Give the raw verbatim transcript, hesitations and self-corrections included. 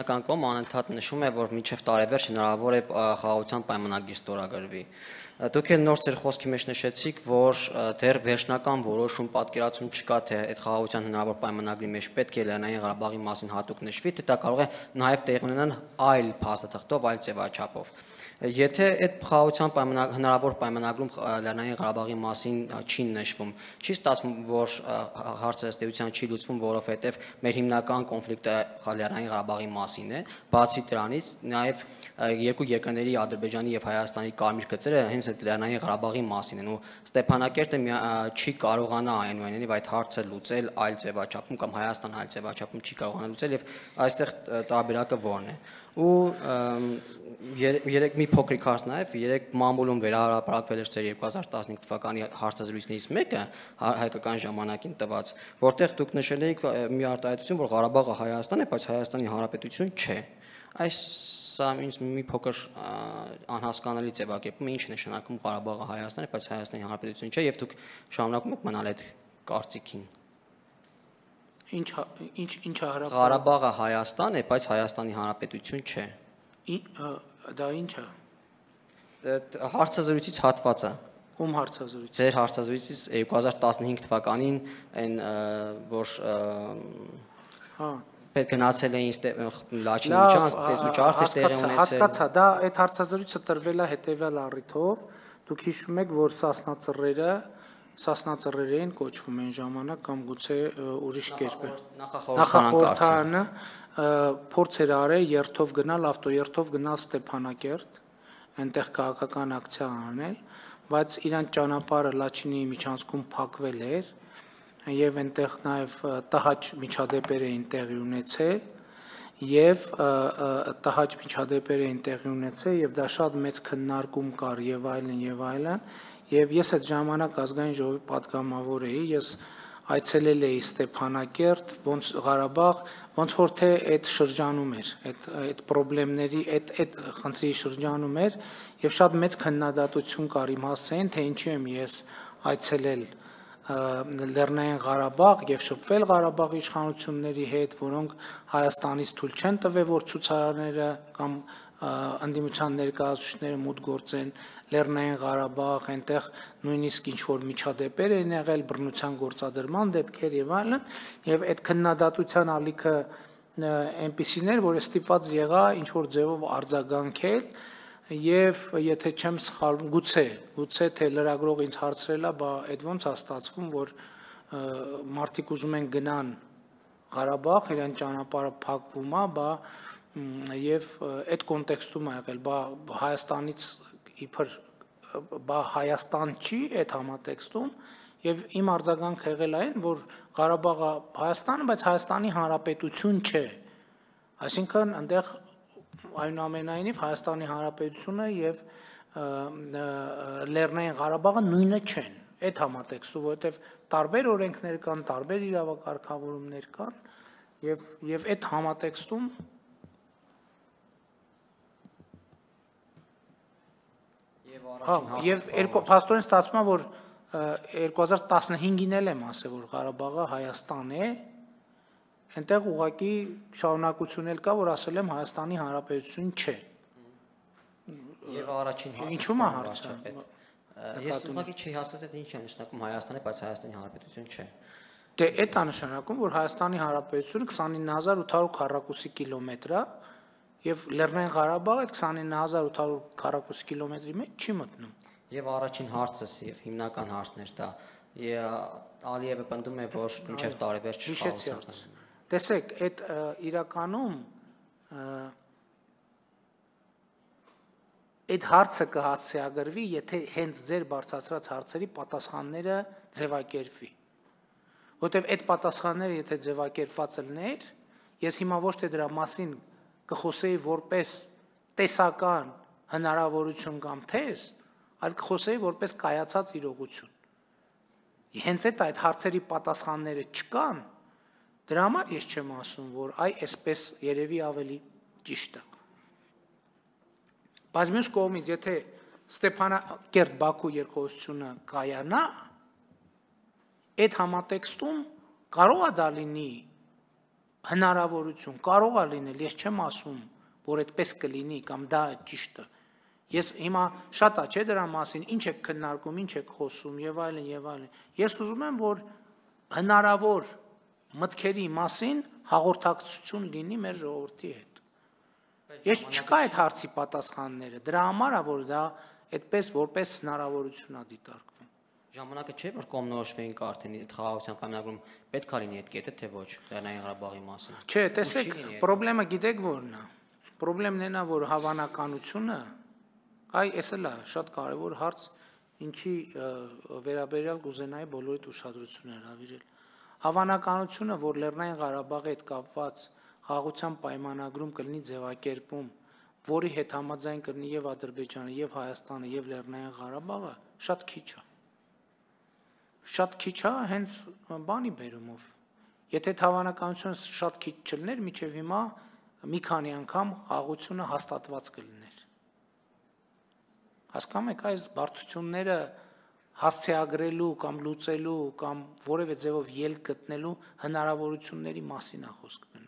Կոմ անընդհատ նշում է, որ մինչև տարեվերջ հնարավոր է խաղաղության պայմանագիր ստորագրվի։ Դուք էլ նոր ձեր խոսքի մեջ նշեցիք, որ դեռ վերջնական որոշում պատկերացում չկա, թե այդ խաղաղության հնարավոր պայմանագրի մեջ պետք է Լեռնային Ղարաբաղի մասին հատուկ նշվի, թե դա կարող է նաև տեղի ունենալ այլ փաստաթղթով, այլ ձևաչափով։ Եթե այդ խաղաղության հնարավոր պայմանագրում Լեռնային Ղարաբաղի մասին չի նշվում, չի ստացվում, որ հարցը ըստ էության չի լուծվում, որովհետև մեր հիմնական կոնֆլիկտը Լեռնային Ղարաբաղի մասին է, բացի դրանից նաև երկու երկրների Ադրբեջանի եւ Հայաստանի կարմիր գծերը հենց այդ Լեռնային Ղարաբաղի մասին են ու Ստեփանակերտը չի կարողանա այնուամենայնիվ այդ հարցը լուծել այլ ձևաչափում կամ Հայաստան այլ ձևաչափում չի կարողանա լուծել եւ այստեղ տարբերակը որն է ու երեք մի փոքրիկ հարց նաև երեք մամուլում վերահրապարակվել էր ձեր երկու հազար տասնհինգ թվականի հարցազրույցներից մեկը հայկական ժամանակին տված, որտեղ դուք նշել եք մի արտահայտություն, որ Ղարաբաղը Հայաստան է, բայց Հայաստանի Հանրապետություն չէ։ Այս սա ինձ մի փոքր անհասկանալի ձևակերպում է, ինչ նշանակում Ղարաբաղը Հայաստան է, բայց Հայաստանի Հանրապետություն չէ, եւ դուք շարունակում եք մնալ այդ կարծիքին։ Ինչ ինչ ինչ հարաբերակ Ղարաբաղը Հայաստան է, բայց Հայաստանի Հանրապետություն չէ։ Դա ինչ է։ Հարցազրույցից հատվածը։ Ում հարցազրույց։ Ձեր հարցազրույցից երկու հազար տասնհինգ թվականին այն որ հա պետք գնացել էին Լաչինի միջանց ծեծուճարդ տեղի ունեցել։ Հասկացա, դա այդ հարցազրույցը տրվել է հետևյալ առիթով, դուք հիշում եք, որ Սասնա Սասնածռերին կոչվում են ժամանակ կամ գուցե ուրիշ կերպ է։ Նախախորհրդարանը փորձ էր արել երթով գնալ, ավտոերթով գնալ Ստեփանակերտ, այնտեղ քաղաքական ակցիա անել, բայց իրանց ճանապարհը Լաչինի միջանցքում փակվել էր եւ այնտեղ նաեւ տհաճ միջադեպեր էին տեղի ունեցել եւ տհաճ միջադեպեր էին տեղի ունեցել եւ դա շատ մեծ քննարկում կար եւ այլն եւ այլն Եվ ես այդ ժամանակ ազգային ժողովի պատգամավոր էի, ես այցելել էի Ստեփանակերտ, ոնց Ղարաբաղ, ոնց որ թե այդ շրջանում էր, այդ այդ խնդիրների, այդ այդ խնդրի շրջանում էր, եւ շատ մեծ քննադատություն կար իմ հասցեին, թե ինչի եմ ես այցելել Լեռնային Ղարաբաղ եւ շփվել Ղարաբաղի իշխանությունների հետ, որոնք Հայաստանից թույլ չեն տվել, որ ցուցարարները կամ անդիմության ներկայացուցիչները մուտք գործեն Լեռնային Ղարաբաղ, այնտեղ նույնիսկ ինչ որ միջադեպեր են եղել, բռնության գործադրման դեպքեր եւ այլն, եւ այդ քննադատության ալիքը այնպիսին էր, որ ստիպված եղա ինչ որ ձևով արձագանքել եւ եթե չեմ սխալվում, գուցե, գուցե թե լրագրողը ինձ հարցրել է, բա այդ ոնց է ստացվում, որ մարդիկ ուզում են գնան Ղարաբաղ, իրեն ճանապարհը փակվում է, բա եւ այդ կոնտեքստում է եղել, բա Հայաստանից իբր բա Հայաստան չի այդ համատեքստում եւ իմ արձագանքը եղել այն, որ Ղարաբաղը Հայաստանը, բայց Հայաստանի Հանրապետություն չէ։ Այսինքն այնտեղ այնուամենայնիվ Հայաստանի Հանրապետությունը եւ Լեռնային Ղարաբաղը նույնը չեն։ Այդ համատեքստում, որովհետեւ տարբեր օրենքներ կան, տարբեր իրավակարգավորումներ կան եւ եւ այդ համատեքստում Հա, եւ փաստորեն ստացվում է, որ երկու հազար տասնհինգին էլ եմ ասել, որ Ղարաբաղը Հայաստան է, այնտեղ ուղղակի շարունակություն էլ կա, որ ասել եմ Հայաստանի Հանրապետություն չէ։ Եվ առաջին հարցը։ Ինչու՞մ է հարցը։ Ես ուղղակի չի հասկացել ինչ է նշանակում Հայաստանը, բայց Հայաստանի Հանրապետություն չէ։ Դե այդ է նշանակում, որ Հայաստանի Հանրապետությունը քսանինը հազար ութ հարյուր քառակուսի կիլոմետր է Եվ Լեռնային Ղարաբաղը այդ քսանինը հազար ութ հարյուր քառակուսի կիլոմետրի մեջ չի մտնում։ Եվ առաջին հարցս եւ հիմնական հարցն էր դա։ Ալիևը պնդում է, որ մինչեւ տարեվերջ խաղացան։ Տեսեք, այդ իրականում այդ հարցը կհասցեագրվի, եթե հենց ձեր բարձրացրած հարցերի պատասխանները ձևակերպվի։ Որտեւ այդ պատասխանները եթե ձևակերպված լիներ, ես հիմա ոչ թե դրա մասին կխոսեի որպես տեսական հնարավորություն կամ թեզ, այլ կխոսեի որպես կայացած իրողություն։ Հենց այդ այդ հարցերի պատասխանները չկան, դրա համար ես չեմ ասում, որ այ այսպես երևի ավելի ճիշտ է։ Բայց մյուս կողմից, եթե Ստեփանակերտ Բաքու երկխոսությունը կայանա, այդ համատեքստում կարող է դա լինի հնարավորություն կարող է լինել, ես չեմ ասում, որ այդպես կլինի կամ դա ճիշտ է։ Ես հիմա շատ է, չէ՞ դրա մասին, ինչ եք քննարկում, ինչ եք խոսում եւ այլն եւ այլն։ Ես ուզում եմ, որ հնարավոր մտքերի մասին հաղորդակցություն լինի մեր ժողովրդի հետ։ Ես չկա այդ հարցի պատասխանները, դրա համար է, որ դա այդպես որպես հնարավորություն է դիտարկվում։ Ժամանակը չէ, որ կողմնորոշվեին արդեն այդ խաղաղության պայմանագրում պետք է լինի այդ կետը, թե ոչ, Լեռնային Ղարաբաղի մասին։ Չէ, տեսեք, խնդրեմը գիտեք որն է։ Խնդրեմն այն է, որ հավանականությունը, այ էս էլ է շատ կարևոր հարց, ինչի վերաբերյալ կուզենայի բոլորիդ ուշադրությունը հրավիրել։ Հավանականությունը, որ Լեռնային Ղարաբաղի հետ կապված խաղաղության պայմանագրում կլինի ձևակերպում, որի հետ համաձայն կլինի եւ Ադրբեջանը, եւ Հայաստանը, եւ Լեռնային Ղարաբաղը, շատ քիչ է։ Շատ քիչ է հենց բանի բերումով։ Եթե հավանականությունը շատ քիչ չլներ, միջև հիմա մի քանի անգամ խաղաղությունը հաստատված կլիներ։ Հասկանում եք, այս բարդությունները հասցեագրելու կամ լուծելու կամ որևէ ձևով ելք գտնելու հնարավորությունների մասին է խոսքը։